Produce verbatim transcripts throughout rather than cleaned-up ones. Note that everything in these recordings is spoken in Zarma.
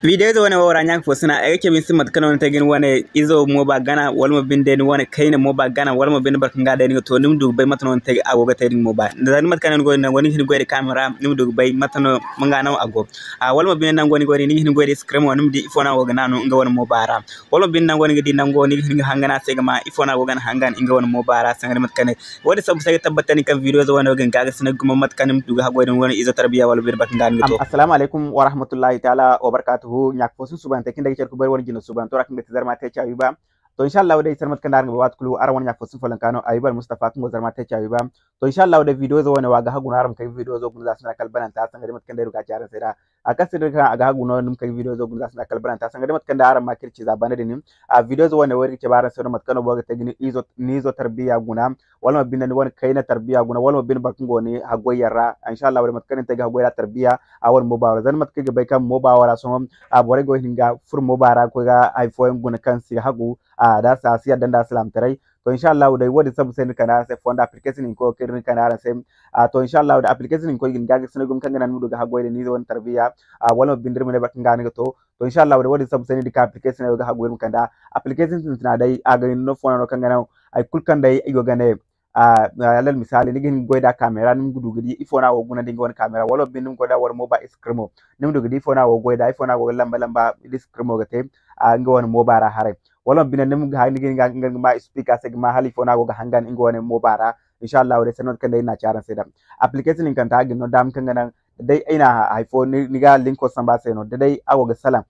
Video ize wane wo ra, ɲa ka fo sina, ay ga cabe ni se mate kaŋ no ni te ga ni wane izo mooba gana, wala mo binde ni wane kayna mooba gana, wala mo binde boro kaŋ ga day ni ga to, ni ma du ga bay mate no ni te a go ga te din mooba. Za ni mate kaŋ no ni go din, ni ga hin ga goy da camera, ni ma du ga bay mate no nga no a go. A, wala mo binde nango ni go din, ni ga hin ga goy da screen wo, ni ma di ifo no a go ga naanu nga wane mooba ra. Wala mo binde nango ni ga di nango, ni ga hin ga hangan a se ga ma ifo no a go ga hangan nga wane mooba ra, sanga da mate kaŋ ne. Wo-din sambu se ay ga tabbatandi kaŋ video ize wane wo ga hin ga ga sina gumo mate kaŋ ni ma du ga haggoy din wane izo tarbiya wala binde boro kaŋ ga ni ga to. Am, assalamu alaikum wa rahmatullahi ta'ala wa barakatuhu. Ɲa ka fo sunsubante kaŋ day ga care ga bay wane jina subanto ra kaŋ ga ti Zarma Tech Ayuba. To, insha Allah day, sanda mate kaŋ day araŋ ga bay, waati kulu araŋ wane ɲa ka fo sunfo lankaano Ayuba Al Mustafa kaŋ go Zarma Tech Ayuba. To, insha Allah day, video ize wane wo a ga hagu no araŋ ma kay ga video izo guna za sanda kala bananta, sanga day mate kaŋ day ay du ga ci araŋ se da. A kaŋ se day kaŋ a ga hagu no ni ma kay ga video izo guna za sanda kala bananta, sanga day mate kaŋ day araŋ ma kay ga ci za bana din. A video ize wane wo iri ga cabe araŋ se no mate kaŋ no boro ga te ga ni izo, ni izo tarbiya guna. Wala mo binde ni wane kayna tarbiya guna, wala mo binde boro kaŋ go ni haggoy yaŋ ra. Insha Allah, wala mate kaŋ ni te ga haggoy ra tarbiya, a wane mooba ra. Zama mate kaŋ ay ga bay kaŋ mooba ra sohõ, a borey go ga hin ga furo mooba ra ga koy ga hay fooyaŋ guna kaŋ si hagu, a da si, a si yadda nda alsilaamataray. To, insha Allah, day wo-din sambu se no iri kande araŋ se fonda application hinko kaŋ iri kande araŋ se. A, to, insha Allah, day application hinko i ga ni ga ga sina gumo kaŋ ga naŋ ni ma du ga haggoy da ni ize wane tarbiya, a, wala mo binde iri ma ne boro kaŋ ga ni ga to. To, insha Allah, day wo-din sambu se no iri ga ka application wo ga haggoy iri ma kande. Application sintina day, a ga ni no fo no kaŋ ga naŋ hay kulu kaŋ day i go ga ne, a, alal misali, ni ga hin ga goy da camera, ni ma du ga di ifo no a go ga guna nda nga wane camera, wala binde ni ma goy da wala mooba screen mo, ni ma du ga di ifo no a go ga goy da, ifo no a go ga lamba lamba, da screen mo ga te, a, nga wane mooba ra haray. Wala binde ni ma ga, ni ga hin ga, ga ma speaker se ga ma hala ifo no a go ga hangan nga wane mooba ra. Insha Allah, day sanda mate kaŋ day iri na ci araŋ se da. Application hinkanta a ga ni no daama kaŋ ga naŋ day ay na hay fo ni, ni ga linko samba se no, da day a go ga salaŋ.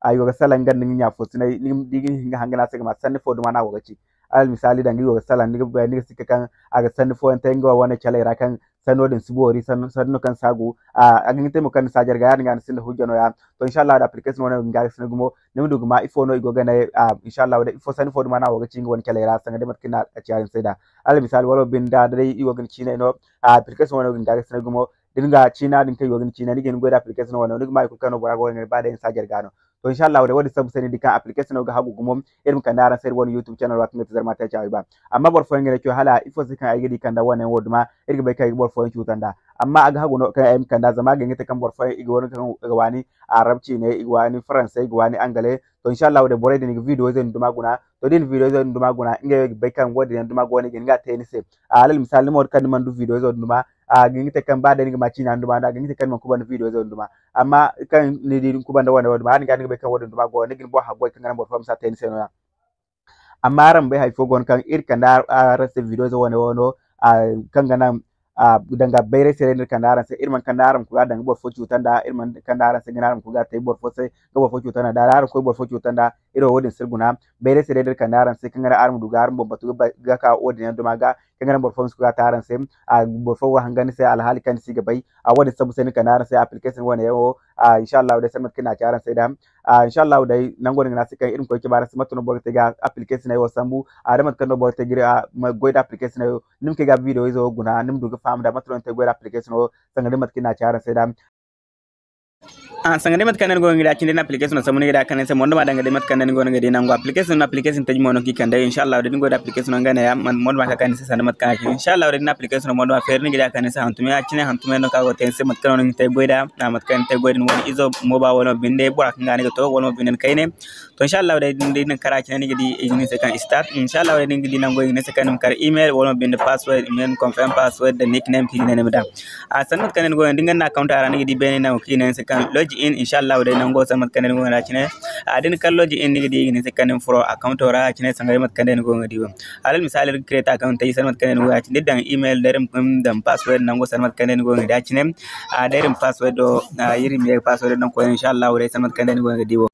A go ga salaŋ nga nda nga ɲa fo sinay, ni, ni ga hin ga hangan a se ga ma sanni fo duma no a go ga ci. Alal misali, danga i go ga salaŋ, ni ga bay, ni ga sikka kaŋ a ga sanni fooyaŋ te nga wane caley ra kaŋ sanno din si boori, sanno, sanno kaŋ si hagu. A, a ga hin ga te mo kaŋ ni si a jarga, yaadin ga ni sinda hujja nooya. To, insha Allah, da application wane wo ga hin ga ga sina gumo, ni ma du ga ma ifo no i go ga ne, a, insha Allah, da ifo sanni fo duma no a go ga ci nga wane caley ra, sanga day mate kaŋ ni na a ci yaadin se da. Alal misali, wala binde da day i go ga ni ciinay no, a, application wane wo ga hin ga ga sina gumo, da ni ga ciina din kaŋ i go ga ni ciina, ni ga hin ga goy da application wane wo, ni ga ma hay kulu kaŋ no bora go ga ne, ba day ni si a jarga no. To, insha Allah, day wo-din sambu se ni di kaŋ application wo ga hagu gumo, iri ma kande araŋ se iri wane YouTube channel ra kaŋ ga ti Zarma Tech Ayuba. Amma boro fooyaŋ ga ne, "Coy, hala ifo se kaŋ ay ga di kande wane wo duma, iri ga bay kaŋ ay ga boro fooyaŋ cutanda." Amma a ga hagu no kaŋ ay ma kand'a, zama a ga hin ga te kaŋ boro fooyaŋ i ga wane kaŋ ga waani Arab ciine, i ga waani Faransay, i ga waani Angale. To, insha Allah, day borey din i ga video ize din duma guna. To, da i na video ize din duma guna, ngey wo ga bay kaŋ wo-din yaŋ duma go no i ga hin ga a te ni se. A, alal misali, ni mo kaŋ ni mana du video ize din duma, a ga hin ga te kaŋ ba day ni ga ma ciina ni duma, a ga hin ga te kaŋ ni mana kubanda video ize din duma. Amma kaŋ ni di ni kubanda wane wo duma, yaadin ga ni ga bay kaŋ wo-din duma go, ni ga ni boŋ haggoy kaŋ ga naŋ boro fo ma si a te ni se nooya. Amma araŋ ma bay hay fo go no kaŋ iri kande ar-, araŋ se video ize wane wo no, a, kaŋ ga naŋ, a, danga bayray se day no iri kande araŋ se. Iri mana kande araŋ ma koy ga danga boro fo cuta nda, iri mana kande araŋ se ga ne araŋ ma koy ga te boro fo se, ga boro fo cuta nda. Da araŋ koy boro fo cuta nda, iri wo wo-din si iri guna. Bayray se day no iri kande araŋ se, kaŋ ga naŋ araŋ ma du ga araŋ boŋ batu ga ba-, ga ka wo-din yaŋ duma ga, kaŋ ga naŋ boro fo ma si koy ga te araŋ se, a, boro fo go ga hangan ni se alhaali kaŋ ni si ga bay. A, wo-din sambu se no iri kande araŋ se application wane yaŋ wo, a, insha Allah, day sanda mate kaŋ iri na a ci araŋ se da. A, insha Allah, day nango din ga naŋ a se kaŋ iri ma koy ga cabe araŋ se mate no boro ga te ga application wo sambu, a, da mate kaŋ no boro ga te ga iri, a, ma goy da application wo, ni ma koy ga video ize wo guna, ni ma du ga faham da mate no ni te ga goy da application wo, sanga day mate kaŋ iri na a ci araŋ se da. A, sanga day mate kaŋ day ni go ga di a cine, da ni application sambu ni ga di a kande ni se, mo ni duma danga day mate kaŋ day ni go ga di nango application, application taji mo no kaŋ i kande. Insha Allah, day da ni go da application nga neeya, mo ni duma ka kande ni se sanda mate kaŋ a ci. Insha Allah, day da ni application mo ni duma feeri ni ga di a kande ni se hantumay, a cine hantumay no kaŋ a go ga te ni se mate kaŋ no ni ga te ga goy da, a, mate kaŋ ni te ga goy da ni wane izo mooba wala mo binde bora kaŋ ga ni ga to, wala mo binde ni kayne. To, insha Allah, day da ni kara cine ni ga di i ga ne ni se kaŋ start. Insha Allah, day da ni ga di nango i ga ne ni se kaŋ ni ma kar email wala mo binde password, email confirm password da nickname kaŋ i ga ne ni ma daŋ. A, sanda mate kaŋ day ni go ga di, da ni ga naŋ account a ra, ni ga di beene nango kaŋ i ga ne ni se kaŋ log in. Insha Allah, day nango sanda mate kaŋ day ni go ga di a cine. A, da ni kar log in, ni ga di i ga ne ni se kaŋ ni ma furo account ra a cine, sanga day mate kaŋ day ni go ga di wo. Alal misali, iri ga create account taji sanda mate kaŋ day ni go ga di a cine, da iri daŋ email, da iri ma daŋ password nango sanda mate kaŋ day ni go ga di a cine. A, da iri ma password do, a, iri ma ye ga password do daŋ koyne, insha Allah, day sanda mate kaŋ day ni go ga di wo.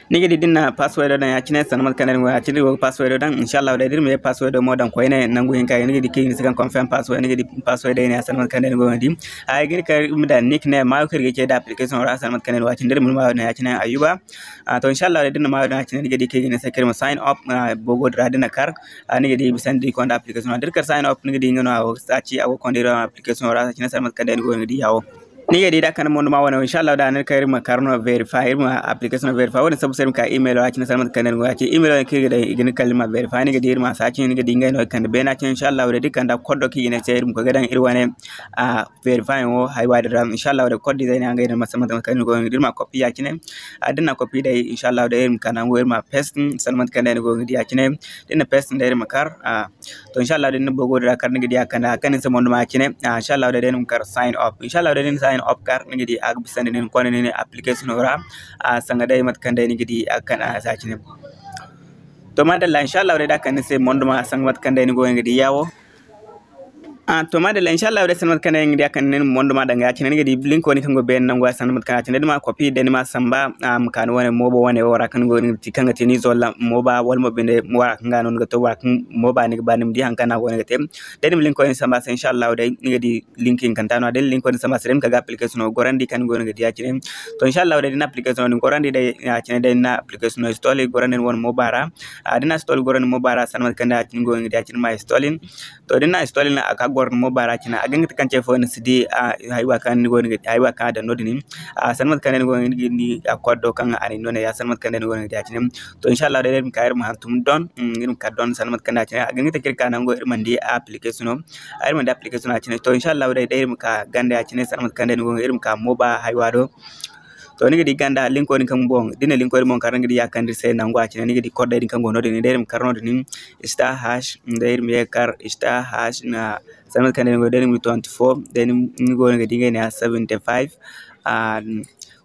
Ni ga di da ni na password daŋ ya-cine, sanda mate kaŋ day ni go ya-cine, ni go ga password daŋ. Insha Allah, day da iri ma ye password mo daŋ koyne, nangu hinka, ni ga di kaŋ i ga ne ni se kaŋ confirm password, ni ga di password day ne ya, sanda mate kaŋ day ni go ga di. Ay ga ne kaŋ iri ma daŋ nickname, maayo kaŋ iri ga ce da application ra, sanda mate kaŋ day ni go ya-cine, da iri ma maayo daŋ ya-cine, Ayuba. A, to, insha Allah, day da ni na maayo daŋ ya-cine, ni ga di kaŋ i ga ne ni se kaŋ iri ma sign up, a, boobo din ra da ni na kar, a, ni ga di bisa ni di konda application ra. Da iri kar sign up, ni ga di nga no a go ga saaci, a go ga konda iri application ra, ya-cine, sanda mate kaŋ day ni go ga di ya wo. Ni ga di da kande mondo ma wane, inshallah da ni ga ka iri ma kar no verify, iri ma application no verify. Wadin sabu se iri ma ka email ra cine, sanda mate kaŋ day ni go ya cine. Email wane kaŋ iri ga daŋ, i ga ni kala ni ma verify, ni ga di iri ma sa cine, ni ga di ngey no i kande beena cine, inshallah da iri kanda code do kaŋ i ga ne se iri ma koy ga daŋ iri wane, a, verify wo haywa din ra, inshallah da code izey ne ngey no mate kaŋ ni go ga di iri ma copy ya cine. A, da ni na copy day, inshallah da iri ma ka nango iri ma paste, sanda mate kaŋ day ni go ga di ya cine. Da ni na paste day iri ma kar, a, To, inshallah, da ni na bogo dira kar ni ga di a kande, a kande ni se mondo ma cine. Ah, inshallah, da ni ma kar sign up. Inshallah, da ni na sign up kar ni ga di a ga bisa ni, ni konda ni application ra. Ah, sanga day mate kaŋ day ni ga di a kande a sa cine. To, madalla, inshallah, da kande ni se mondo ma sanga mate kaŋ day ni go ga di yawo. Ah, to, madalla, inshallah, da sanga mate kaŋ day ni ga di a kande ni mondo ma danga ya cine, ni ga di link woni kaŋ go beene nango ya sanga mate kaŋ ya cine, da ni ma copy, da ni ma samba, ah, ma ka ni wane mobo wane wo ra kaŋ go ni ga ti kaŋ ga te ni zolla moba wala mo binde mo ra kaŋ ga no ni ga to, wala kaŋ moba ni ga ba ni ma di haŋ kaŋ a go ni ga te. Day ni ma link koy ni samba se, inshallah day ni ga di link hinkanta no. Day ni link koy ni samba se, day ni ma ka ga application no gorandi kaŋ ni go ni ga di ya cine. To, inshallah day ni na application no gorandi day ya cine, day ni na application no install gorandi ni wane moba ra. Ah, da ni na install gorandi moba ra, sanda mate kaŋ day ya cine go ni ga di ya cine ma install. To, da ni na install a ka goro ni moba ra cine, a ga hin ga te kaŋ ce fo ni si di, ah, haywa kaŋ ni go ni ga di, haywa kaŋ a daŋ no din. Ah, sanda mate kaŋ day ni go ni ga di a code do kaŋ a na ni no ne ya, sanda mate kaŋ day ni go ni ga di ya cine. To, inshallah day, day iri ma ka iri ma hantum don, mm, iri ma ka don sanda mate kaŋ day ya cine. A ga hin ga te kaŋ iri ka nango iri mana di application no. Ah, iri mana di application no ya cine. To, inshallah day, day iri ma ka ganda ya cine, sanda mate kaŋ day ni go iri ma ka moba haywa do. To, ni ga di ganda linko din kaŋ boŋ, da ni na linko din boŋ kar, ni ga di ya kaŋ iri se nango ya cine, ni ga di code din kaŋ go no din, day iri ma kar no din, star hash, day iri ma ye ga kar star hash, na, sanda mate kaŋ day ni go, day ni ma twenty-four, day ni, ni go ni ga di ngey ne ya seventy-five, ah,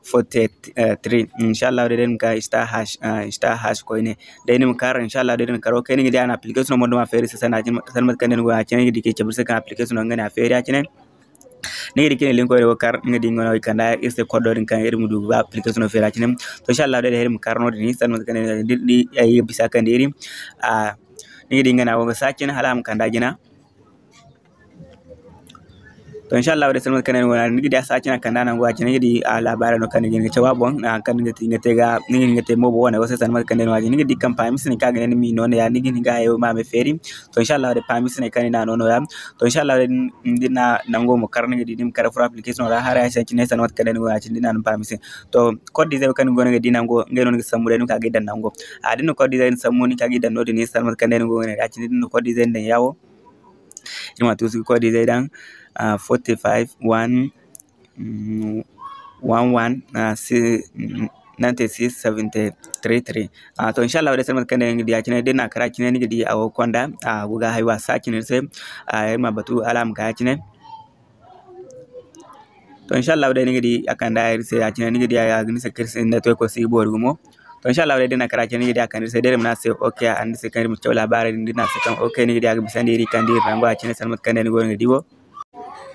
forty-three. Inshallah, day, day ni ma ka star hash, ah, star hash koyne. Day ni ma kar, inshallah, day ni ma kar, okay, ni ga di a na application mo duma feeri se sanda, sanda mate kaŋ day ni go ya cine, ni ga di kay cabe se kaŋ application no nga ne a feeri ya cine. Ni ga di cine linko wo kar, ni ga di nga no i kanda iri se code din kaŋ iri ma du ga application no feera cine. To, inshallah, day, day iri ma kar no din, sanda mate kaŋ day ni, ni, ay bisa kaŋ day iri. Ah, ni ga di nga no a go ga sa cine, hala a ma kanda jina. To, inshallah, day sanda mate kaŋ day ni go, ni ga di a sa cine a kanda nango a cine, ni ga di a labaari no kaŋ ni ga hin ga caw a boŋ, ah, kaŋ ni ga te, ni ga te ga, ni ga hin ga te mobo wane wo se sanda mate kaŋ day ni go a cine. Ni ga di kaŋ paami sinay kaŋ a ga ne ni ma i no ne ya, ni ga hin ga hayo ma me feeri. To, inshallah, day paami sinay kaŋ ni na no no ya. To, inshallah, day, din na nango mo kar, ni ga di ni ma kar furo application ra, haray se cine, sanda mate kaŋ day ni go ya cine, din na no paami se. To, code izey kaŋ ni go ni ga di nango, ngey no ni ga sambu day, ni ma ka ga i daŋ nango. A, din na code izey ni sambu, ni ka ga i daŋ no din, sanda mate kaŋ day ni go ni ga di ya cine, din na code izey ni daŋ yawo. Iri ma tuusu ga code izey daŋ, ah, forty-five, one, mm, one one, ah, si-, mm, ninety-six, seventy-three, three. Ah, to, inshallah, day sanda mate kaŋ day ni ga di ya cine, da ni na kar ya cine, ni ga di a go ga konda, ah, a go ga haywa sa cine iri se. Ah, iri ma batu hala a ma ka ya cine. To, inshallah, day ni ga di a kanda iri se ya cine, ni ga di a ga ni se kaŋ iri se network si ga boori gumo. To, inshallah, day da ni na kar ya cine, ni ga di a kanda iri se, day iri ma ne a se, okay, a ne iri se kaŋ iri ma caw labaari din, da ni na a se kaŋ, okay, ni ga di a ga bisandi iri kaŋ da iri nango a cine, sanda mate kaŋ day ni go ni ga di wo.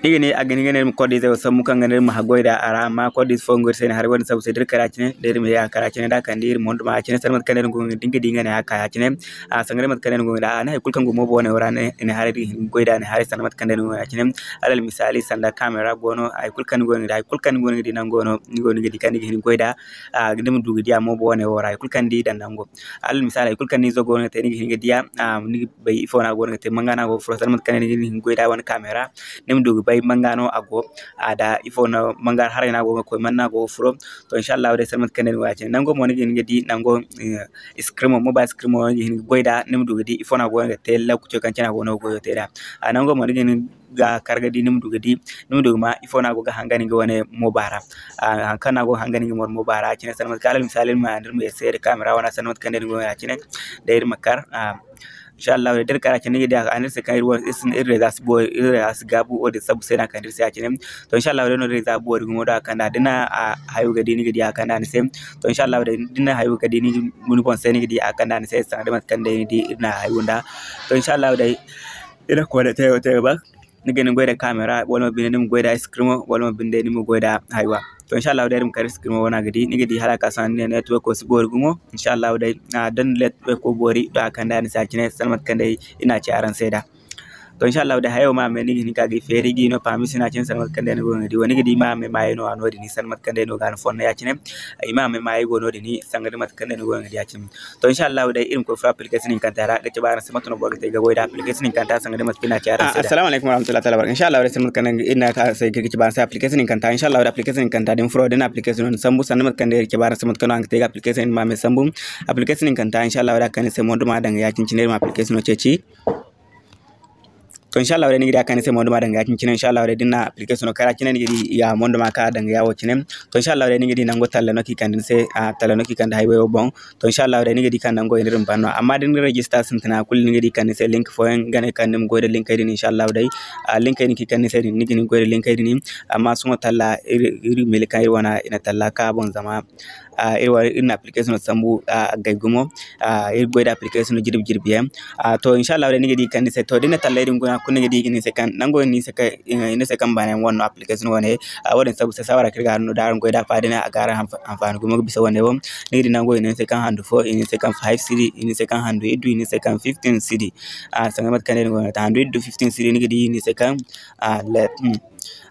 Ni ga ne, a ga hin ga ne iri ma code izey wo sambu kaŋ ga ne iri ma haggoy da a ra, amma code ize fo go iri se ni haray, wadin sabu se da iri kar ya cine, da iri ma ye a kar ya cine, da a kande iri mondo ma ya cine, sanda mate kaŋ day ni go ni ga di nga ne a ka ya cine. A, sanda mate kaŋ day ni go ni ga di, a, ni hay kulu kaŋ go mobo wane wo ra, ni, ni haray da ga hin ga goy da ni haray, sanda mate kaŋ day ni go ni ga di ya cine. Alal misaali, sanda camera go no, hay kulu kaŋ ni go ni ga di, hay kulu kaŋ ni go ni ga di nango no, ni go ni ga di kaŋ ni ga hin ga goy da, a, ni ma du ga di a mobo wane wo ra, hay kulu kaŋ ni di daŋ nango. Alal misaali, hay kulu kaŋ ni izo go no ga te, ni ga hin ga di a, a, ni ga bay ifo no a go no ga te, manga no a go ga furo, sanda mate kaŋ day ni ga hin ga goy da wane camera, ni ma du ga bay manga no a go, a, da ifo no manga haray no a go ga koy, man no a go ga furo. To, inshallah, day sanda mate kaŋ day ni go ya cine. Nango mo ni ga hin ga di, nango, eh, screen mo, mobile screen mo ni ga hin ga goy da, ni ma du ga di ifo no a go no ga te, lokaco kaŋ cine a go no ga goyo te da. A, nango mo ni ga hin ga kar ga di, ni ma du ga di, ni ma du ga ma ifo no a go ga hangan nga wane moba ra. A, haŋ kaŋ no a go ga hangan nga wane moba ra, a cine sanda mate kaŋ, alal misaali, iri ma, iri ma ye seeda camera wane, sanda mate kaŋ day ni go ya cine, day iri ma kar, a, inshallah, da iri kar a cine, ni ga di a, a ne iri se kaŋ iri wo, iri si, iri reza si boori, iri reza si gaabu, wo-din sabu se no a kande iri se ya cine. To, inshallah, day no iri reza boori gumo da a kanda, da ni na, a, hayo ga di, ni ga di a kanda ni se. To, inshallah, day da ni na hayo ga di, ni, ni boŋ se ni ga di a kanda ni se, sanda mate kaŋ day ni di iri na hayo nda. To, inshallah, day iri na koy da teyo, teyo ba. Ni ga hin ga goy da camera, wala mo binde ni ma goy da screen mo, wala mo binde ni ma goy da haywa. To, inshallah, day iri ma kar screen mo wana ga di, ni ga di hala ka sohõ ni ne network wo si boori gumo. Inshallah, day, a, da ni network wo boori, da a kande a ni se ya cine, sanda mate kaŋ day iri na a ci araŋ se da. To, inshallah day hayo ma me ni ga hin ka ga i feeri ga i no permission a cine sanda mate kaŋ day ni go ga di wo ni ga di ma me maayo no a no din sanda mate kaŋ day no ga ni fonda ya cine. I ma me maayo go no din sanda mate kaŋ day ni go ga di ya cine. To, inshallah day iri ma koy furo application hinkanta ra ga cabe araŋ se mate no boro ga te ga goy da application hinkanta sanda mate kaŋ iri na ci araŋ se da. Assalamu alaikum warahmatullahi taala wabarakatuh. Inshallah day sanda mate kaŋ iri na ka se ga cabe araŋ se application hinkanta. Inshallah day application hinkanta din furo din application no sambu sanda mate kaŋ day iri cabe araŋ se mate kaŋ no araŋ ga te ga application ma me sambu. Application hinkanta inshallah day a kaŋ ni se mondo ma daŋ ga ya cine cine iri ma application no ceeci. To, inshallah day ni ga di a kaŋ ni se mondo ma daŋ ga ya cine cine inshallah day din na application no kara cine ni ga di ya mondo ma ka daŋ ga ya wo cine. To, inshallah day ni ga di nango talla no ki kande ni se a talla no ki kande hay wo boŋ. To, inshallah day ni ga di kaŋ nango iri ma ban no amma da ni register sintina kulu ni ga di kaŋ ni se link fooyaŋ ga ne kaŋ ni ma goy da linkey din inshallah day. A linkey din ki kaŋ ni se din ni ga hin goy da linkey din. Amma sohõ talla iri iri mili kaŋ iri wana i na talla ka boŋ zama iri na application sambu a gay gumo. Iri goy da application jirbi jirbi yaŋ. To, inshallah day ni ga di kaŋ ni se to da ni na talley din guna kulu ni ga di ni se kaŋ nango ni se kaŋ ni se kaŋ baana yaŋ wane no application wane. Wo-din sabu se saawara kaŋ iri ga no da araŋ goy da a fa day no a ga araŋ hanfaani gumo ga bisa wane wo. Ni ga di nango i ne ni se kaŋ handu fo i ne ni se kaŋ five cedi i ne ni se kaŋ handu iddu i ne ni se kaŋ fifteen cedi. Sanga mate kaŋ day ni go no ta handu iddu fifteen cedi ni ga di i ne ni se kaŋ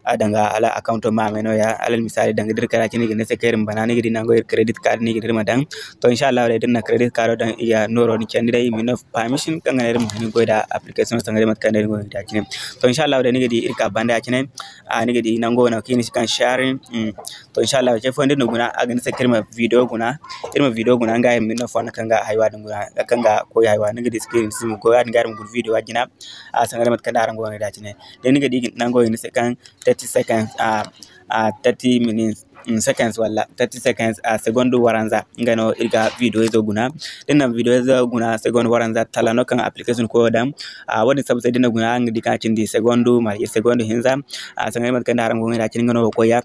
a daŋ ga hala account ma me nooya alal misaali daŋ ga dira kara cine i ga ne se kaŋ iri ma bana ni ga di nango iri credit card no i ga ne iri ma daŋ. To, inshallah day da ni na credit card daŋ i ga nooro ni candi day i ma ni no permission kaŋ ga ne iri ma hin goy da application sanga day mate kaŋ day ni go ga di a cine. To, inshallah day ni ga di iri ka banda ya cine. Ni ga di nango no kaŋ i ne se kaŋ sharing. To, inshallah ce fooyaŋ da ni na guna a ga ne se kaŋ iri ma video guna. Iri ma video guna nga iri ma ni no fonda kaŋ ga haywa din guna kaŋ ga koy haywa ni ga di screen si ma goy ya-din ga iri ma guna video a jina. Sanga day mate kaŋ day araŋ go ga di a cine. Day ni ga di nango i ne se kaŋ thirty seconds, ah, ah, thirty minutes, mm, seconds wala thirty seconds, ah, seconde waranza nga no iri ga video izo guna. Da ni na video izo guna seconde waranza tala no kaŋ application koyo daŋ. Ah, wo-din sabu se da ni na guna araŋ ga di kaŋ a cindi seconde marje seconde hinza. Ah, sanga day mate kaŋ day araŋ go ga di a cine nga no wo koy ya.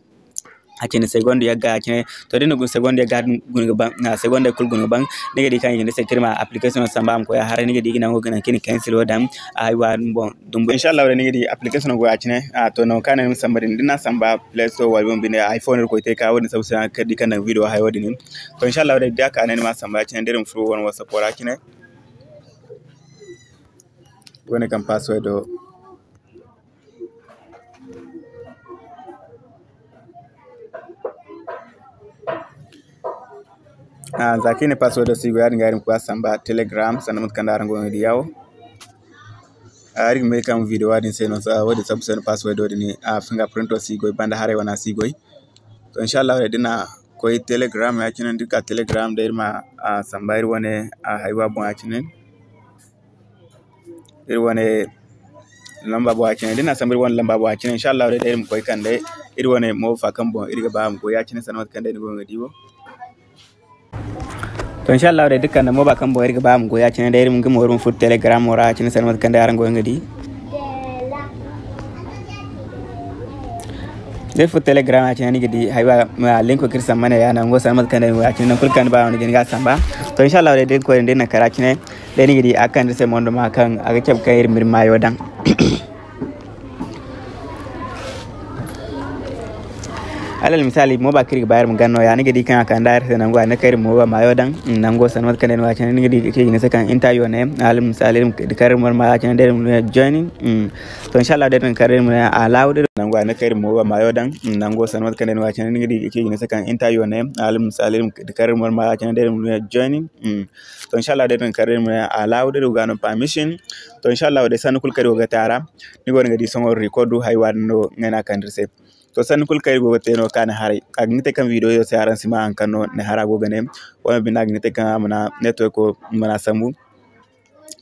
A cine seconde yagga a cine. To da ni na guna seconde yagga guna ga ban, ah, seconde kulu guna ga ban. Ni ga di kaŋ i ga ne se kaŋ iri ma application samba a ma koy a haray ni ga di i ga nango ga naŋ kaŋ i na cancelo daŋ. Aywa boŋ dumbu inshallah day ni ga di application go ya cine. Ah, to nango kaŋ a ne ni ma samba din da ni na samba Play Store wala bumbo binde iPhone iri koy te ka wo-din sabu se araŋ ga di kaŋ daŋ video hayo din. To inshallah day da a ka ne ni ma samba ya cine da iri ma furo wane WhatsApp ra cine. Wane kaŋ password do. Ah, za kaŋ i ne passwordo si goy ya-din ga iri ma koy a samba Telegram sanda mate kaŋ day araŋ go ga di ya wo. Ah, iri ga may kaŋ video wo-din se no wo-din sabu se no passwordo din, ah, fingerprinto si goy banda haray wane a si goy. To inshallah day da ni na koy Telegram ya cine da iri ka Telegram day iri ma, ah, samba iri wane, ah, haywa boŋ ya cine. Iri wane lamba boŋ ya cine da ni na samba iri wane lamba boŋ ya cine inshallah day iri ma koy kande iri wane moofa kaŋ boŋ iri ga ba a ma goy ya cine sanda mate kaŋ day ni go ga di wo. To inshallah day da kande moofa kaŋ boŋ iri ga ba a ma goy ya cine day iri ma nga mo iri ma furo Telegram ra ya cine sanda mate kaŋ day araŋ go ga di. Da iri furo Telegram ya cine ni ga di haywa linko kaŋ iri samba ne ya nango sanda mate kaŋ day ni go ya cine nangu kulu kaŋ ni ba no ni ga ni ga samba. To inshallah day da ni koy din da ni na kara cine. Day ni ga di a kande se mondo ma kaŋ a ga cabe kaŋ iri ma iri maayo daŋ. Alal misaali mooba kaŋ iri ga ba iri ma gana nooya ni ga di kaŋ a kande iri se nango a ne kaŋ iri ma mooba maayo daŋ. Nango sanda mate kaŋ day no ya cine ni ga di kaŋ i ga ne se kaŋ inta yo ne. Alal misaali iri ma di kaŋ iri ma mooba maayo cine day iri ma ne joining. To inshallah day iri ma kar iri ma ne allow day nango a ne kaŋ iri ma mooba maayo daŋ. Nango sanda mate kaŋ day no ya cine ni ga di kaŋ i ga ne se kaŋ inta yo ne. Alal misaali iri ma di kaŋ iri ma mooba maayo cine day iri ma ne joining. To inshallah day din kar iri ma allow day go ga no permission. To inshallah day sanni kulu kaŋ iri go ga te a ra ni go no ga di sohõ record haywa din no ngey no a kande iri se. To sanni kulu kaŋ iri go ga te no ka ni haray a ga hin ga te kaŋ video yo se araŋ si ma haŋ kaŋ no ni hara go ga ne. Wala binde a ga hin ga te kaŋ a mana networko mana sambu.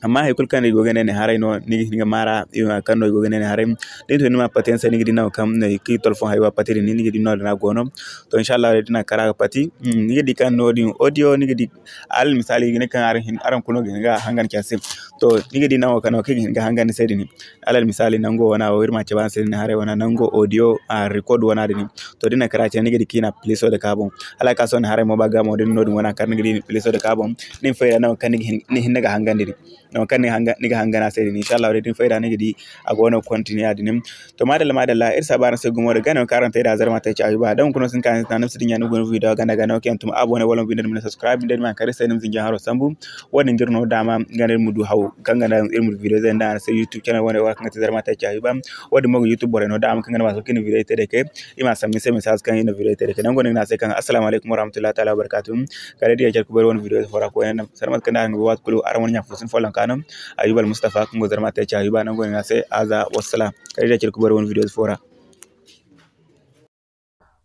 Amma hay kulu kaŋ iri go ga ne ni haray no ni ga hin ga maara kaŋ no iri go ga ne ni haray. Da ni to ni ma pati yaŋ se ni ga di naŋ kaŋ no i ga telephone haywa pati din ni ga di no din a go no. To inshallah day din a kara ga pati ni ga di kaŋ no din audio ni ga di alal misaali i ga ne kaŋ araŋ kulu no ga hin ga hangan care se. To ni ga di naŋo kaŋ no kaŋ i ga hin ga hangan ni se din alal misaali nango wana wo iri ma cabe araŋ se din haray wana nango audio record wana din. To din na kara cine ni ga di kaŋ i na pliso da ka boŋ hala ka sohõ ni haray mo ba ga mo din no din wana kar ni ga di ni pliso da ka boŋ. Ni ma fayda naŋo kaŋ ni ga hin ga hangan din. nangu kaŋ ni ga hanga ni se din. Inshallah day da ni fayda ni ga di a go no continue ya din. To madalla madalla, iri saba araŋ se gumo da gana kaŋ araŋ te da zarma te ci Ayuba. Da hunkuna sin ka ni si din ya ni guna video ganda gana kaŋ yaŋ tuma abonné wala mo binde ni ma ne subscribe, da ni ma kare se ni ma zinji haro sambu. Wo-din ga iri no daama ganda iri ma du haw kaŋ ganda iri ma du video zey nda araŋ se YouTube channel wane wala kaŋ ga te zarma te ci Ayuba. Wo-din mo ga YouTube borey no daama kaŋ ganda ma so kaŋ i na video te da ke. I ma sambu ni se message kaŋ i na video te da ke. Nango no i ga ne a se kaŋ assalamu alaikum warahmatullahi ta'ala wabarakatuh. Kala day da care kubay iri wane video fo ra koyne, sanda mate kaŋ day araŋ ga bay waati kulu araŋ wane ɲa fo sin follonka no. Ayuba Almustafa kaŋ go zarma te ci Ayuba, nango no i ga ne a se aza wassalam. Kala day da care kubay iri wane video fo ra.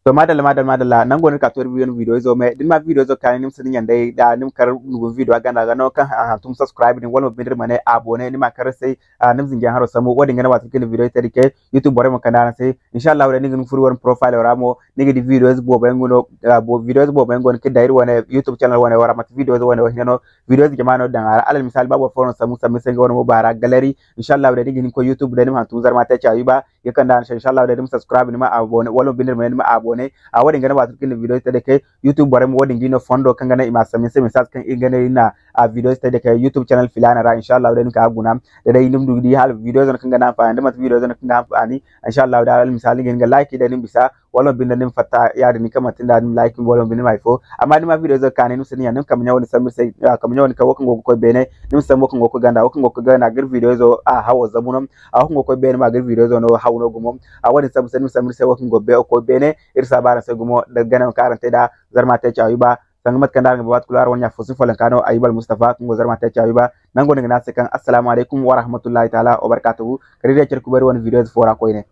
To madalla madalla madalla, nango no iri ka to iri wane video izo me da ni ma video izo kaani ni ma si ni ɲanday da ni ma kar ni gun video a ganda ga no kaŋ a hantum subscribe din wala mo binde iri ma ne abonné ni ma kar se. Ah, ni ma zinji haro sambu. Wo-din ga ne waati kaŋ ni video te da ke YouTube borey ma kande araŋ se. Inshallah day ni ga ni furo iri wane profile ra mo ni ga di videos boobo yaŋ go no, ah, bo videos boobo yaŋ go no kaŋ day iri wane YouTube channel wane wara mate videos wane wo hina no. Videos jama no daŋ a ra. Alal misali ba boro fo no sambu sambu se nga wane mo ba ra gallery. Inshallah day ni ga hin koy YouTube day ni ma hantum zarma te ci Ayuba ga kande araŋ se. Inshallah day ni ma subscribe ni ma abonné wala mo binde ni ma abonné. A wo-din ga ne waati kaŋ ni video te da ke YouTube borey mo wo-din ga no fondo kaŋ ga ne i ma sambu se message kaŋ i ga ne i na a videos te da ke YouTube channel filana ra. Inshallah day ni ka guna da day ni ma du ga di hala videos no kaŋ ga ne anfani da mate videos no kaŋ ga anfani. Inshallah day alal misali ni ga hin ga like day ni ma bisa wala mo binde ni ma fatta ya-din ni kaŋ manti nda ni ma like wala mo binde ni ma hay fo. Amma ni ma videos kaani ni ma si ni ɲa ni ma kambe ɲa wo-din sambu iri se, ah, kambe ɲa wo-din kaŋ wo kaŋ go ga koy beene. Ni ma sambu wo kaŋ go ga koy ganda wo kaŋ go ga koy ganda ga iri videos a hawo zabu no. A wo kaŋ go ga koy beene ma ga iri videos no haw no gumo. A wo-din sambu se ni ma sambu iri se wo kaŋ go ga koy beene. Iri saba araŋ se gumo da gana kaŋ araŋ te da zarma te ci Ayuba. Sanga mate kaŋ day araŋ ga bay waati kulu araŋ wane ɲa fo sin follonka no Ayuba Almustafa kaŋ go zarma te ci Ayuba. Nango no i ga ne a se kaŋ assalamu alaikum warahmatullahi ta'ala wabarakatuhu. Kala day da care kubay iri wane videos fo ra koyne.